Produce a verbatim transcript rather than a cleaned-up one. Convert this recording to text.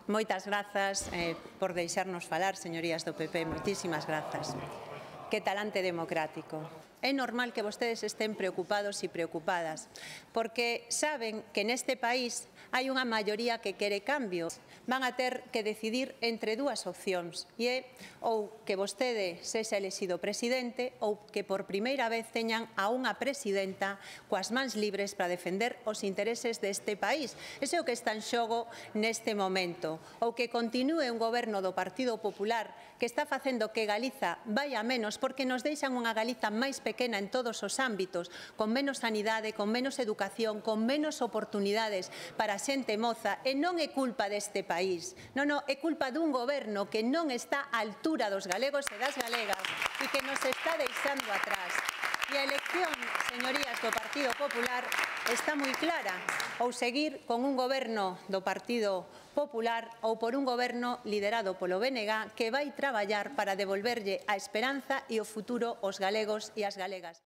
Moitas grazas eh, por deixarnos falar, señorías do P P, moitísimas grazas. Que talante democrático. É normal que vostedes estén preocupados e preocupadas, porque saben que neste país hai unha maioría que quere cambio. Van a ter que decidir entre dúas opcións, e é ou que vostede sexa elexido presidente ou que por primeira vez teñan a unha presidenta coas mans libres para defender os intereses deste país. Ese é o que está en xogo neste momento. Ou que continúe un goberno do Partido Popular que está facendo que Galiza vai a menos porque nos deixan unha Galiza máis pequena en todos os ámbitos, con menos sanidade, con menos educación, con menos oportunidades para a xente moza, e non é culpa deste país. Non, non, é culpa dun goberno que non está á altura dos galegos e das galegas e que nos está deixando atrás. E a elección, señorías do Partido Popular, está moi clara. Ou seguir con un goberno do Partido Popular ou por un goberno liderado polo B N G que vai traballar para devolverlle a esperanza e o futuro aos galegos e ás galegas.